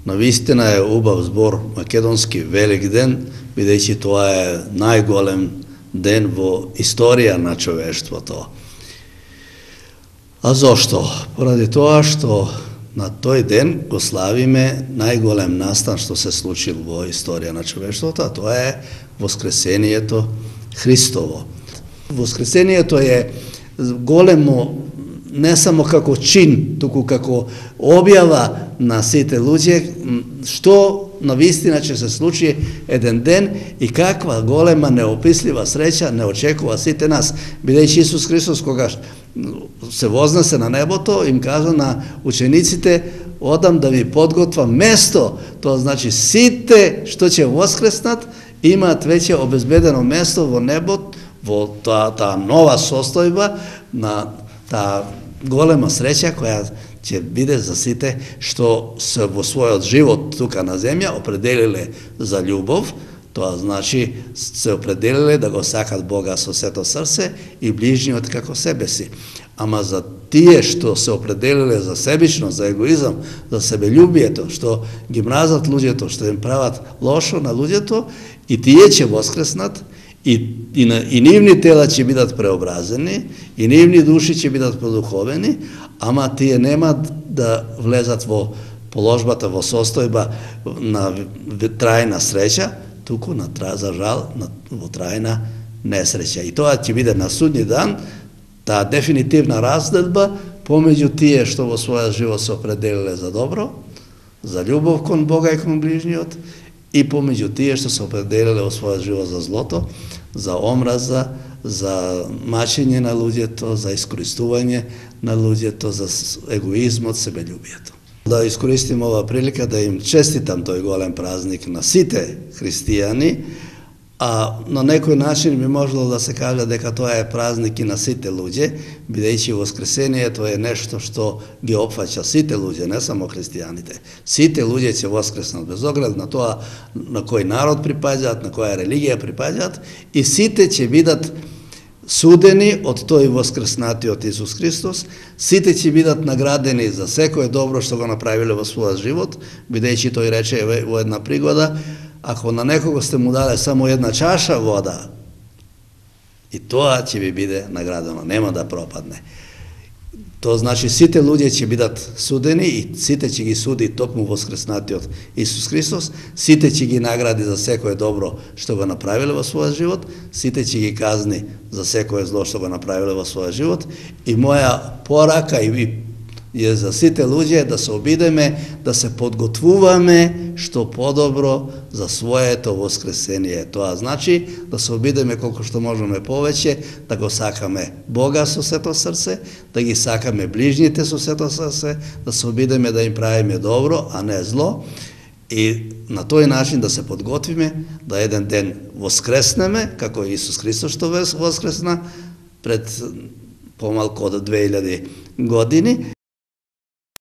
Навистина е убав збор македонски Велик ден, бидејќи тоа е најголем ден во историја на човештвото. А зошто? Поради тоа што на тој ден го славиме најголем настан што се случил во историја на човештвото, а тоа е Воскресението Христово. Воскресението е големо не само како чин, туку како објава на сите луѓе, што навистина ќе се случи еден ден и каква голема неопислива среќа не очекува сите нас. Бидејќи Исус Христос, кога се вознесе на небото, им кажа на учениците: одам да ви подготвам место. Тоа значи сите што ќе воскреснат имаат веќе обезбедено место во небот, во таа нова состојба, на таа голема среќа која ќе биде за сите што се во својот живот тука на земја определиле за љубов. Тоа значи се определиле да го сакат Бога со сето срце и ближниот како себе си. Ама за тие што се определиле за себичност, за егоизам, за себељубието, што ги мразат луѓето, што им прават лошо на луѓето, и тие ќе воскреснат, и нивни тела ќе бидат преобразени, и нивни души ќе бидат продуховени, ама тие нема да влезат во положбата, во состојба на трајна среќа, туку за жал во трајна несреќа. И тоа ќе биде на судни дан, таа дефинитивна разделба помеѓу тие што во својот живот се определиле за добро, за љубов кон Бога и кон ближниот, и помеѓу тие што се определиле во својот живот за злото, за омраза, за мачење на луѓето, за искористување на луѓето, за егоизмот, себељубието. Да искористим ова прилика да им честитам тој голем празник на сите христијани, а на некој начин би можело да се каже дека тоа е празник и на сите луѓе, бидејќи Воскресението е нешто што ги опфаќа сите луѓе, не само христијаните. Сите луѓе ќе воскреснат без оглед на тоа на кој народ припаѓаат, на која религија припаѓаат, и сите ќе бидат судени од тој воскреснатиот Исус Христос, сите ќе бидат наградени за секое добро што го направиле во својот живот, бидејќи тој рече во една пригода: ако на некого сте му дале само една чаша вода, и тоа ќе ви биде наградено, нема да пропадне. Тоа значи сите луѓе ќе бидат судени и сите ќе ги суди токму воскреснатиот Исус Христос, сите ќе ги награди за секое добро што го направиле во својот живот, сите ќе ги казни за секое зло што го направиле во својот живот. И моја порака е за сите луѓе да се обидеме, да се подготвуваме што подобро за своето воскресение. Тоа значи да се обидеме колку што можеме повеќе, да го сакаме Бога со сето срце, да ги сакаме ближните со сето срце, да се обидеме да им правиме добро, а не зло, и на тој начин да се подготвиме да еден ден воскреснеме, како Исус Христос што воскресна пред помалку од 2000 години.